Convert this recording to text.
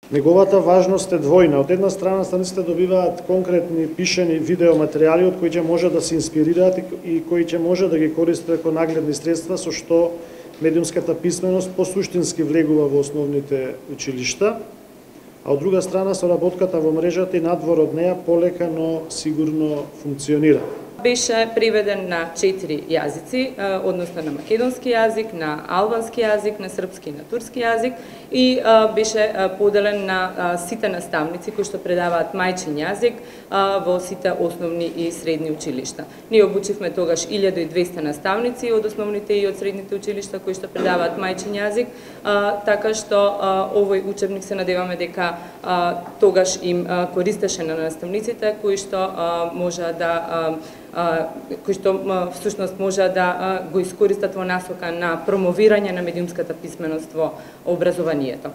Неговата важност е двојна. Од една страна станиците добиваат конкретни пишени видеоматеријали од кои ќе може да се инспирираат и кои ќе може да ги користат како нагледни средства, со што медиумската писменост посуштински влегува во основните училишта, а од друга страна соработката во мрежата и надвор од неа полека, но сигурно функционира. Беше преведен на 4 јазици, односно на македонски јазик, на албански јазик, на српски и на турски јазик, и беше поделен на сите наставници кои што предаваат мајчин јазик во сите основни и средни училишта. Ние обучивме тогаш 1200 наставници од основните и од средните училишта кои што предаваат мајчин јазик, така што овој учебник се надеваме дека тогаш им користеше на наставниците кои што можеа да кои што всушност може да го искористат во насока на промовирање на медиумската писменост во образованието.